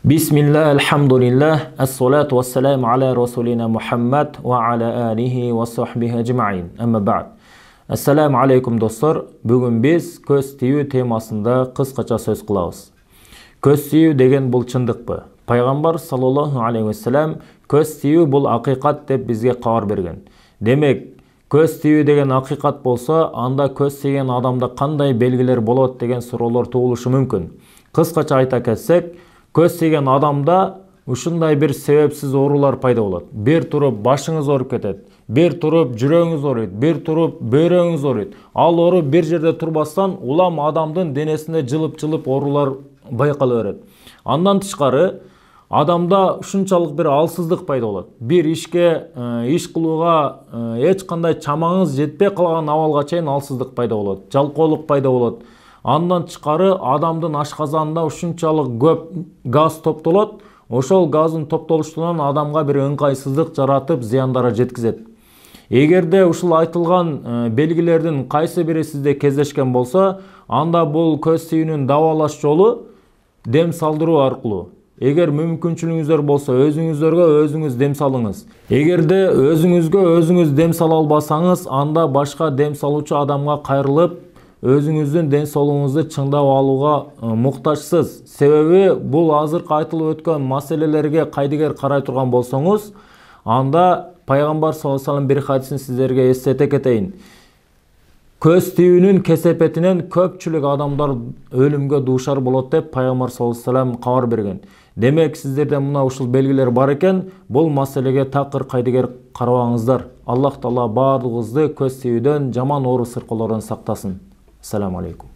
Bismillah, elhamdülillah, es-salatu vesselam ala Rasulina Muhammad ve ala alihi ve sahbihi ecma'in. Amma ba'd. Assalamu alaikum dostlar. Bugün biz көз тию темасында кыскача сөз кылабыз. Көз тию деген бул чындыкпы? Пайгамбар саллаллаху алейхи ва саллям көз тию бул акыйкат деп бизге кабар берген. Демек, көз тию деген акыйкат болсо, анда көз тийген адамда кандай белгилер болот деген суроолор туулушу мүмкүн. Кыскача айта кетсек, көз тийген адамда ушундай бир себепсиз оорулар пайда болот. Бир туруп башыңыз ооруп кетет, бир туруп жүрөгүңүз ооруйт, бир туруп бөйрөгүңүз ооруйт. Ал оору бир жерде турбастан улам адамдын денесинде жылып оорулар байкала берет. Андан тышкары адамда ушунчалык бир алсыздык пайда болот. Бир ишке иш кылууга эч кандай чамаңыз жетпей калган абалга чейин алсыздык пайда болот, жалкоолук пайда болот. Андан тышкары адамдын ашказанында ушунчалык көп газ топтолот. Ошол газдын топтолуштугунан адамга бир ыңгайсыздык жаратып, зыяндары жеткизет. Эгерде ушул айтылган белгилердин кайсы бири сизде кездешкен болсо, анда бул көз тийүүнүн дабалаш жолу дем салдыруу аркылуу. Эгер мүмкүнчүлүгүңүздөр болсо, өзүңүздөргө өзүңүз дем салыңыз. Эгерде өзүңүзгө өзүңүз дем сала албасаңыз, анда башка дем салуучу адамга кайрылып, өзүңүздүн ден соолугуңузду чыңдап алууга муктажсыз. Себеби бул азыркы айтылып өткөн маселелерге кайдыгер карай турган болсоңуз, анда Пайгамбар саллаллаху алейхи ва саллям бир хадисин сиздерге эстете кетейин. Көз тиүүнүн кесепетинен көпчүлүк адамдар өлүмгө дуушар болот деп Пайгамбар саллаллаху алейхи ва саллям кабар берген. Демек, сиздерде мына ушул белгилер бар экен, бул маселеге такыр кайдыгер карабаңыздар. Аллах Таала баардыгыбызды көз тиүүдөн, жаман оору сыркоолордон сактасын. Assalamu alaikum.